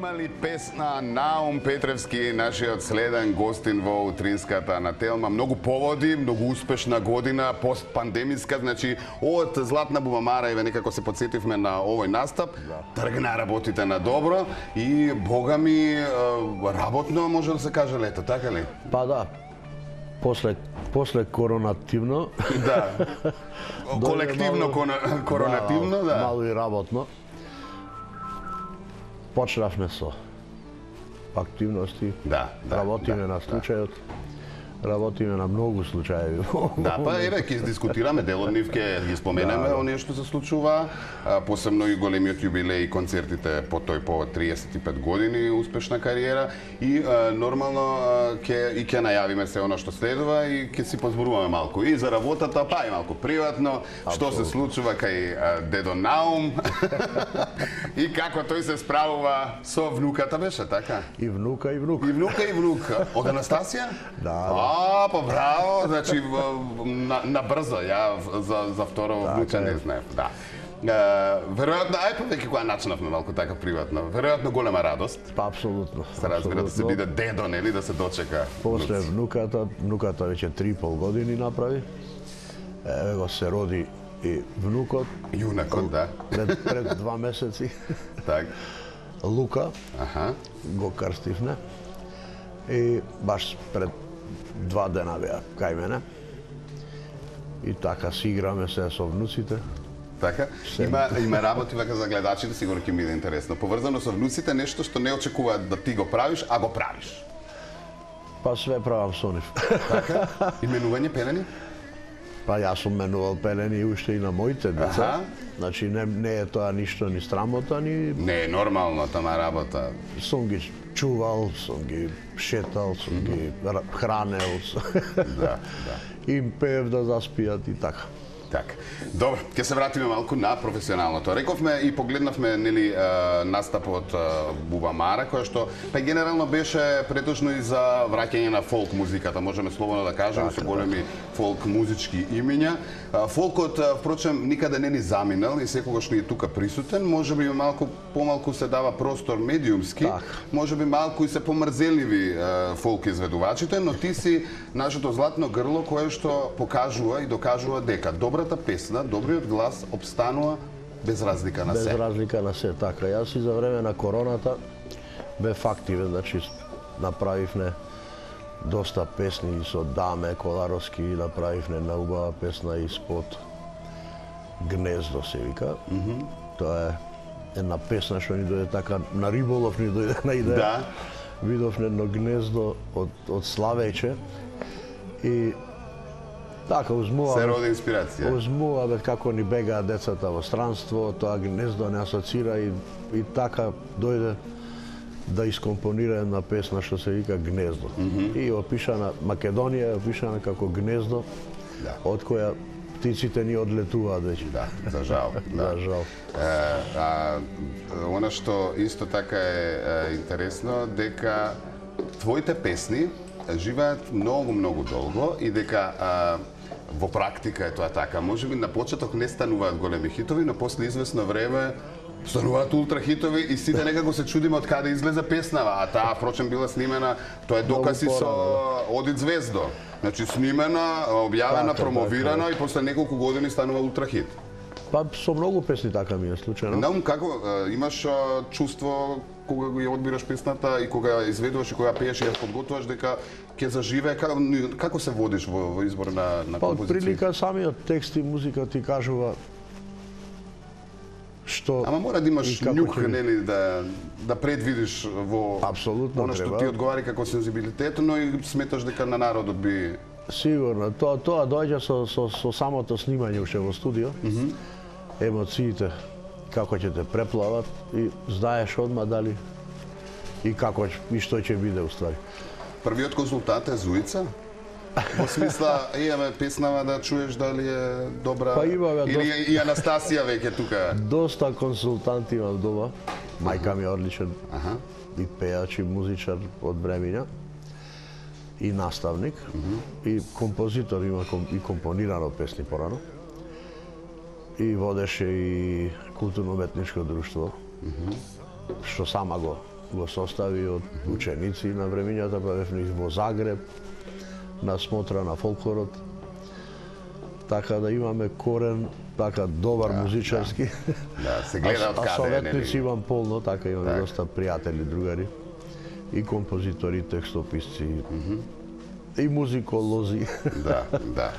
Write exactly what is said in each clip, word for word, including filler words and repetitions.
Има ли песна Наум Петревски, нашиот следен гостин во утринската на Телма? Многу поводи, многу успешна година, постпандемиска, значи од Златна бубамара еве некако се подсетивме на овој настап. Тргна работите на добро и бога ми работно може да се каже лето, така ли? Па да. После после коронативно. Да. Колективно коронативно, да. Мало и работно. Почнавме со активности. Да, да. Работиме на случајот. Работиме на многу случаи. Да, па еве ќе дискутираме дел од нив, ќе ги споменеме да, оние што се случува, посебно и големиот јубилеј и концертите по тој повод триесет и пет години успешна кариера и нормално ќе и ќе најавиме се она што следува и ќе си позборуваме малку и за работата, па и малку приватно, што се случува кај дедо Наум и како тој се справува со внуката, беше така? И внука и внук. И внука и внук. Од Анастасија? Да. А, па браво, значи на, на брзо, ја за за второ внуче не знаев, да. Веројатно, ај па веќе кога начнавме малку така приватно, веројатно голема радост. Па апсолутно. Се разбира да се биде дедо, нели, да се дочека. После внуката, внуката веќе три и пол години направи. Еве го се роди и внукот. Јунакот, да. Пред, пред два месеци. Так. Лука. Аха. Го крстивме. И баш пред два дена беа кај мене. И така си играме се со внуците. Така? Има, има работи вака за гледачите, сигурно ќе биде интересно. Поврзано со внуците, нешто што не очекуваат да ти го правиш, а го правиш. Па све правам со нив. Така? Именување пелени? Па јас сум менувал пелени уште и на моите деца. Аха. Значи не, не е тоа ништо ни срамота, ни... Не е нормално тама работа. Сум ги чувал, сум ги шетал, сум mm -hmm. ги хранел. Да, да. Им пеев да заспијат и така. Така. Добро, ќе се вратиме малку на професионалното. Рековме и погледнавме нели настапот Бубамара, кој што па генерално беше претежно и за враќање на фолк музиката, можеме слободно да кажеме, со големи фолк музички имиња. Фолкот впрочем никаде не ни заминал и секогаш ни е тука присутен, можеби малку помалку се дава простор медиумски, можеби малку и се помрзеливи фолк изведувачите, но ти си нашето златно грло кое што покажува и докажува дека добрата песна, добриот глас обстанува без разлика на се. Без разлика на се, така. Јас и за време на короната бев активен, значи направивме доста песни со Даме Коларовски, направивме на убава песна и спот Гнездо се вика. Mm -hmm. Тоа е една песна што ни дојде така на риболов ни дојде на идеја. Да. Видовме едно гнездо од од славеќе и така узмува. Се роди инспирација. Узмува бе како ни бегаат децата во странство, тоа гнездо не асоцира и и така дојде да искомпонира една песна што се вика Гнездо. Mm -hmm. И опишана Македонија е опишана како гнездо, да, од која птиците ни одлетуваат веќе. Да, за жал. Да, за жал. Е, а она што исто така е, е интересно дека твоите песни живеат многу многу долго и дека а, во практика е тоа така. Можеби на почеток не стануваат големи хитови, но после известно време стануваат ултра хитови и сите некако се чудиме од каде излезе песнава, а таа впрочем била снимена, тоа е докази со Одит звездо. Значи снимена, објавена, промовирана и после неколку години станува ултра хит. Па со многу песни така ми е случајно. Наум, како имаш чувство кога го ја одбираш песната и кога изведуваш и кога пееш и ја подготвуваш дека ќе заживее, како, како се водиш во, во избор на, на па, композиција? Па, прилика самиот текст и музика ти кажува што... Ама мора да имаш нюх, ќе... нели, да, да предвидиш во апсолутно оно што треба. ти одговари како сензибилитет, но и сметаш дека на народот би... Сигурно, тоа тоа доаѓа со, со, со самото снимање уште во студио. Mm -hmm. Емоциите, како ќе те преплават и знаеш одма дали и како и што ќе биде уствари. Првиот консултант е Зуица? Во смисла, имаме песнава да чуеш дали е добра, па имаме или доста... и Анастасија веќе тука? Доста консултанти имам дома. Мајка ми е одличен Аха. и пејач и музичар од Бремиња. И наставник, mm -hmm. и композитор, има и компонирано песни порано. И водеше и културно-уметничко друштво, mm -hmm. што сама го го состави од ученици на времињата, па бевме во Загреб, на смотра на фолклорот. Така да имаме корен, така добар да, музичарски. Да, да се гледа од каде. А советници имам полно, така имаме так. Доста пријатели, другари. И композитори, и текстописци, mm -hmm. и музиколози. Да, да.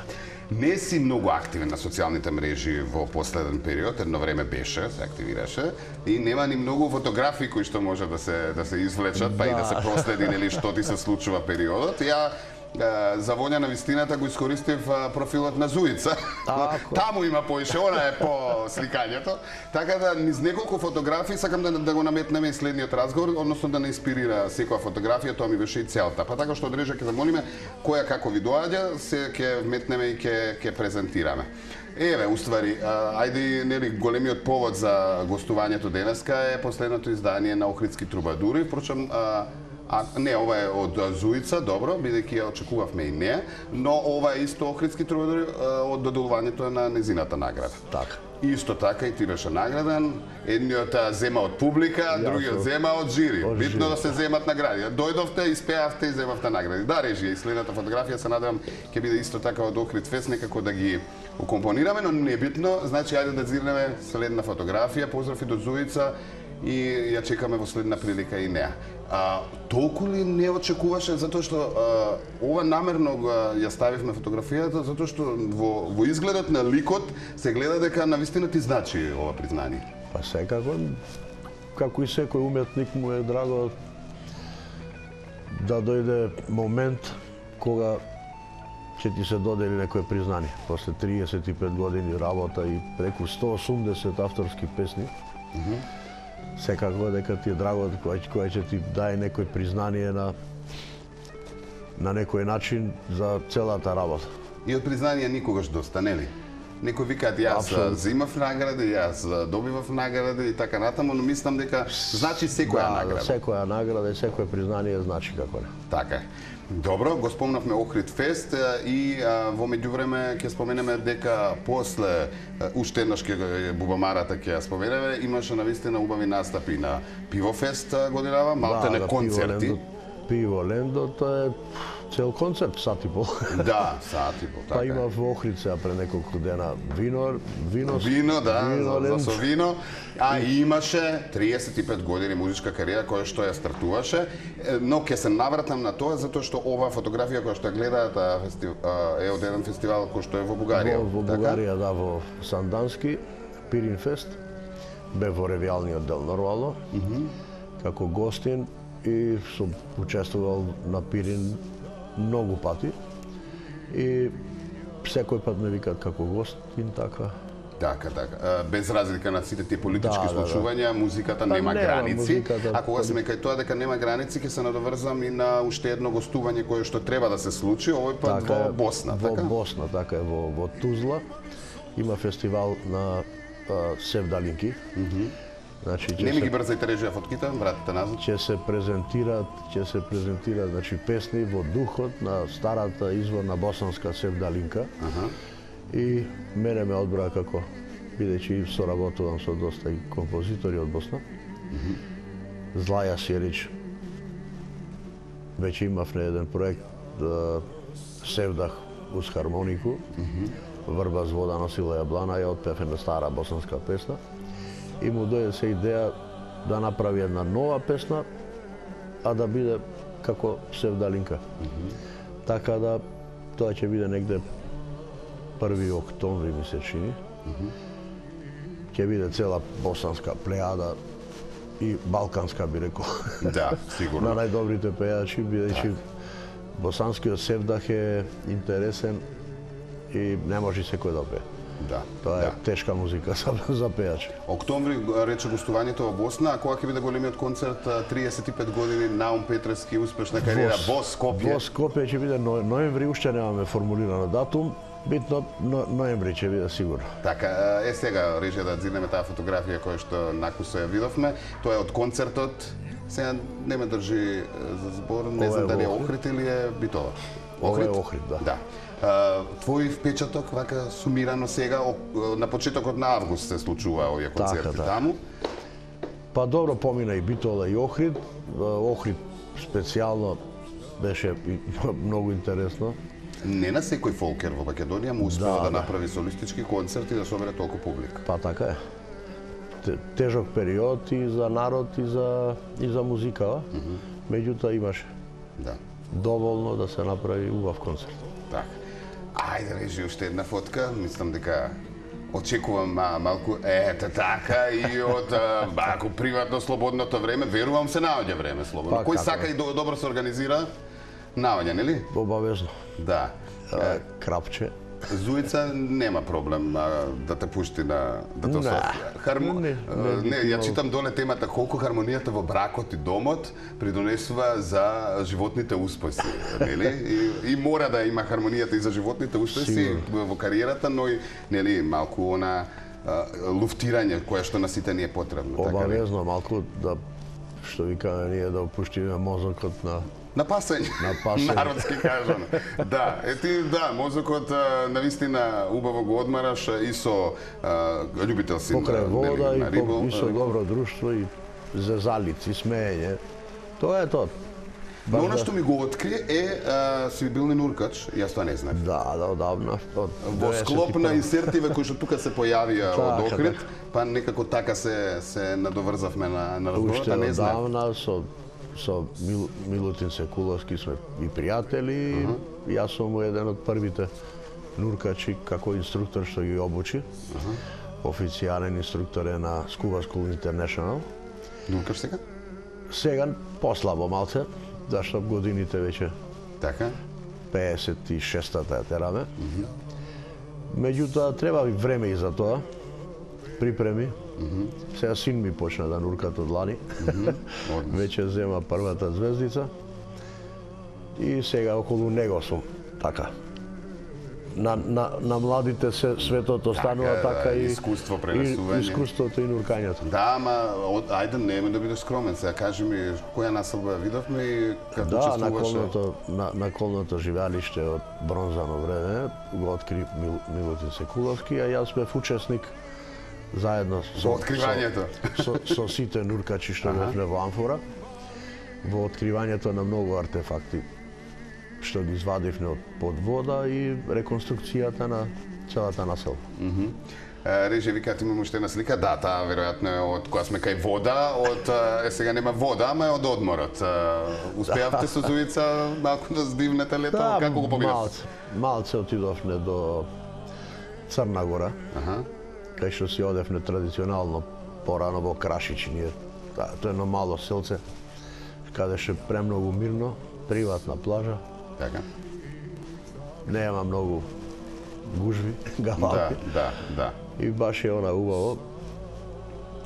Не си многу активен на социјалните мрежи во последен период, едно време беше, се активираше, и нема ни многу фотографии кои што може да се да се извлечат, па да. И да се проследи нели што ти се случува периодот. Ја за волја на вистината го искористив профилот на Зуица. Таму има поише, она е по сликањето. Така да низ неколку фотографии сакам да, да го наметнеме и следниот разговор, односно да не инспирира секоја фотографија, тоа ми беше и целта. Па така што одрежа ќе замолиме која како ви доаѓа, се ќе вметнеме и ќе ќе презентираме. Еве, уствари, ајде нели големиот повод за гостувањето денеска е последното издание на Охридски трубадури, впрочем А, не, ова е од Зуица, добро, бидејќи ја очекувавме и неа, но ова е исто Охридски трубадури од доделувањето на незината награда. Така. Исто така и ти беше награден, едниот зема од публика, другиот зема од жири. Од Битно жири. Да се земат награди. Дојдовте, испеавте и земавте награди. Да, режија и следната фотографија се надевам ќе биде исто така од Охрид Фест, некако да ги укомпонираме, но не битно, значи ајде да зирнеме следна фотографија, поздрав и до Зуица и ја чекаме во следна прилика и неа. А, толку ли не очекуваше, затоа што а, ова намерно ја ставивме фотографијата, затоа што во, во изгледот на ликот се гледа дека навистина ти значи ова признание? Па секако, како и секој уметник му е драго да дојде момент кога ќе ти се додели некое признание. После триесет и пет години работа и преку сто осумдесет авторски песни, mm -hmm. секако дека ти е драго кој кој ќе ти даде некој признание на на некој начин за целата работа. И од признание никогаш доста, нели? Некој викаат јас Абсолютно. Зимав награди, јас добивав награди и така натаму, но мислам дека значи секоја да, награда. Да, секоја награда и секој признание значи како не. Така е. Добро, го спомнавме Охрид Фест и а, во меѓувреме ќе споменеме дека после уште еднаш ќе Бубамарата ќе ја споменеме, имаше навистина убави настапи на Пивофест годинава, малтене да, концерти. Пиво Лендо, тоа е цел концерт, сат и пол. Да, сат и пол, така. Па има во Охрид сега пред неколку дена вино, вино, вино, да, вино, за, за со вино. А имаше триесет и пет години музичка кариера која што ја стартуваше, но ќе се навратам на тоа затоа што ова фотографија која што ја гледаат е од еден фестивал кој што е во Бугарија. Во, во така? Бугарија, да, во Сандански, Пирин Фест, бе во ревијалниот дел нормално, mm -hmm. како гостин и сум учествувал на Пирин многу пати и секој пат ме викаат како гостин, така. Така, така. Без разлика на сите тие политички да, случувања, да, да. Музиката па нема не, граници. Музиката... А кога сме кај тоа дека нема граници, ќе се надоврзам и на уште едно гостување кое што треба да се случи, овој пат така, во Босна, во така? Во Босна, така е, во, во Тузла. Има фестивал на а, Севдалинки. Mm -hmm. Значи, не ми ги брзајте режија фотките, вратите назад. Ќе се презентираат, ќе се презентираат, значи песни во духот на старата изворна босанска Севдалинка. Аха. И мене ме одбра како, бидејќи соработувам со доста и композитори од Босна. Mm -hmm. Злаја Сјерич, веќе имав на еден проект да Севдах уз хармонику, mm -hmm. Врба з вода носила јаблана, ја отпев една стара босанска песна. И му дојде се идеја да направи една нова песна, а да биде како Севдалинка. Mm -hmm. Така да тоа ќе биде негде први октомври ми се чини. Mm -hmm. Ќе биде цела босанска плејада и балканска би рекол. Да, сигурно. На најдобрите пејачи, бидејќи да. Босанскиот Севдах е интересен и не може секој да пее. Да. Тоа е да. тешка музика за, за пејачи. Октомври рече гостувањето во Босна, а кога ќе биде големиот концерт триесет и пет години Наум Петревски успешна кариера во Скопје? Во Скопје ќе биде ноември, уште немаме формулиран датум. Битно но, ноември ќе биде сигурно. Така, е сега рече да зиднеме таа фотографија која што накусо ја видовме. Тоа е од концертот. Сега не ме држи за збор, не знам дали е Охрид или е Битола. Охрид? Ова е Охрид, да. Да. Твој впечаток, вака сумирано сега, на почетокот на август се случува овие концерти така, да. таму. Па добро, помина и Битола и Охрид. Охрид специјално беше многу интересно. Не на секој фолкер во Македонија му успеа да, да, да направи солистички концерт и да собере толку публика. Па така е. Тежок период и за народ и за и за музика, mm -hmm. Меѓутоа имаше. Да. Доволно да се направи убав концерт. Така. Ајде, режи уште една фотка, мислам дека очекувам а, малку ете така и од малку приватно слободното време, верувам се наоѓа време слободно. Па, Кој како? сака и до, добро се организира, наоѓа, нели? Обавезно. Да. А, крапче. Зуица нема проблем а, да те пушти на да те ососи. Хармо... Не, не, не, ја читам доле темата колку хармонијата во бракот и домот придонесува за животните успеси, нели? И, и мора да има хармонијата и за животните успеси Сигурно. Во кариерата, но и нели малку она а, луфтирање кое што на сите ни е потребно. Обавезно, така, малку да што викаме ние да опуштиме мозокот на на пасење, на пасење. Народски кажано. Да, ети, да, мозокот навистина убаво го одмараш и со а, љубител си покрај вода на и, рибол, по, и со добро друштво и зезалици, смеење. Тоа е тоа. Но она што ми го откри е а, си бил нуркач, јас тоа не знам. Да, да, одавна. Од Во склоп на инсертиве кои што тука се појавија од Така, Охрид, така. па некако така се се надоврзавме на на разговорот, а не Уште знам. одавна со со Мил, Милутин Секуловски сме и пријатели. Uh -huh. Јас сум еден од првите нуркачи како инструктор што ги обучи. Uh -huh. Официјален инструктор е на Scuba School International. Нуркаш сега? Сега послабо малце, зашто годините веќе Така. пеесет и шестата ја тераме. Uh -huh. Меѓутоа треба време и за тоа. Припреми. Mm -hmm. Сега син ми почна да нуркат од лани. Mm -hmm. Веќе зема првата звездица. И сега околу него сум така. На, на, на младите се светот останува така, така да, и искуство пренесување. И искуството и нуркањето. Да, ама од, ајде нема да бидеш скромен. Сега кажи ми која населба ја видовме и како да, учествуваше. Да, на колното на, на колното живеалиште од бронзано време го откри Мил, Милутин Секуловски, а јас бев учесник заедно со откривањето со, со, со сите нуркачи што бевме во Амфора, во откривањето на многу артефакти што ги извадивме од под вода и реконструкцијата на целата населба. Mm -hmm. Реже, викаат имам уште една слика, да, таа веројатно е од кога сме кај вода, од е сега нема вода, ама е од одморот. Успеавте со Зуица малку да здивнете лето, да, како го поминавте? Малце, малце отидовме до Црна Гора. Аха. Кај што си одевме традиционално порано во Крашич, ние, да, тоа е едно мало селце, каде ше премногу мирно, приватна плажа. Така. Нема многу гужви, галапи. Да, да, да. И баш е она убаво,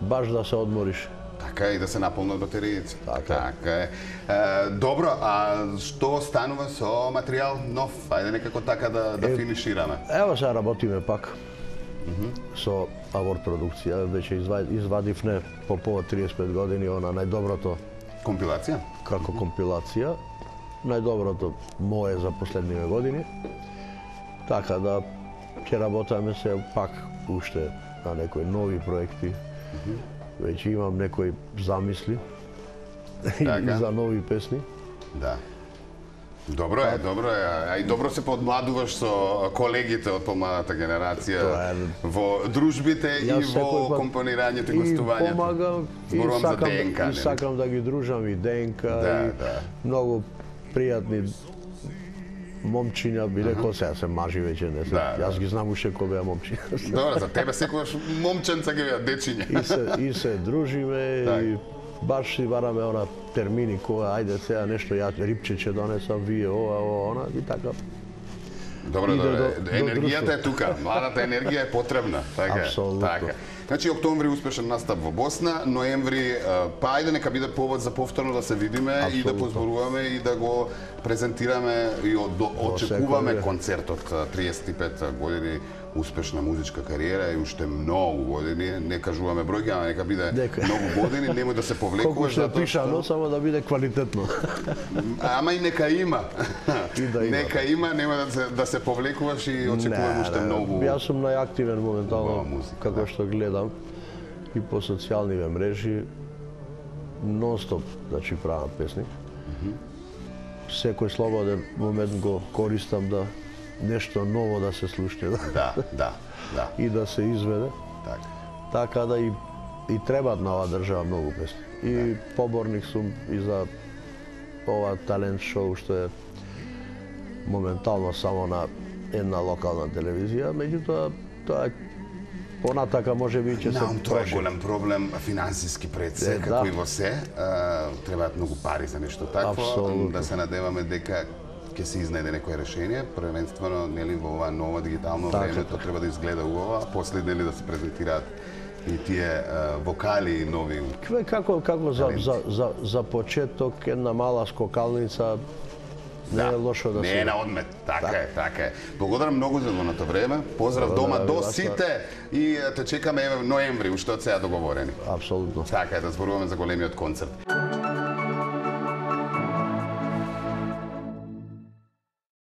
баш да се одмориш. Така и да се наполнат батериите. Така, така е. е. Добро, а што станува со материјал нов? Ајде некако така да, да е, финишираме. Ево сега работиме пак. Mm -hmm. Со Авор продукција, веќе извадивме по повод триесет и пет години она најдоброто компилација. Како компилација, најдоброто мое за последниве години. Така да ќе работаме се пак уште на некои нови проекти. Mm -hmm. Веќе имам некои замисли и за нови песни. Да. Добро е, добро е. А и добро се подмладуваш со колегите од помладата генерација во дружбите и во компонирањето и гостувањето. И помагам, и сакам, и сакам да ги дружам и ДНК, да, и да. многу пријатни момчиња, би рекол, сега се мажи веќе, не се. Да, јас да. Ги знам уште кој беа момчиња. Добро, за тебе секогаш момченца ги беа дечиња. И се и се дружиме так. И баш си бараме она термини кога ајде сега нешто ја рипче ќе донесам, вие ова, ова, она и така. Добро, добро. До, енергијата до е тука. Младата енергија е потребна. Така. Апсолутно. Така. Значи октомври успешен настап во Босна, ноември па ајде нека биде повод за повторно да се видиме. Апсолутно. И да позборуваме и да го презентираме и од, очекуваме концертот триесет и пет години успешна музичка кариера и уште многу години, не кажуваме бројки, ама нека биде нека. Многу години, немој да се повлекуваш затоа што пишано, само да биде квалитетно. Ама и нека има. И да има. Нека има, нема да се да се повлекуваш и очекувам уште многу. Јас сум најактивен моментално како што гледам и по социјалниве мрежи нон-стоп, значи правам песни. Секој слободен момент го користам да нешто ново да се слушне. Да, да, да. И да се изведе. Така. Така да и и требаат на оваа држава многу песни. И поборник сум и за ова талент шоу што е моментално само на една локална телевизија, меѓутоа тоа е понатака може би ќе се Наум, тоа е проши. голем проблем, финансиски пред се, Е, како да. и во се. а, Требаат многу пари за нешто такво. Апсолутно. Да се надеваме дека ќе се изнајде некое решение, првенствено нели во ова ново дигитално Така, време, тоа треба да изгледа убаво, а после нели да се презентираат и тие а, вокали нови. Кве како како за за за за почеток една мала скокалница не е лошо да не се. е на одмет. Така е, така е. Благодарам многу за одвоеното време. Поздрав дома Благодарам до ви, вас, сите и те чекаме еве ноември, уште од сега договорени. Апсолутно. Така е, да зборуваме за големиот концерт.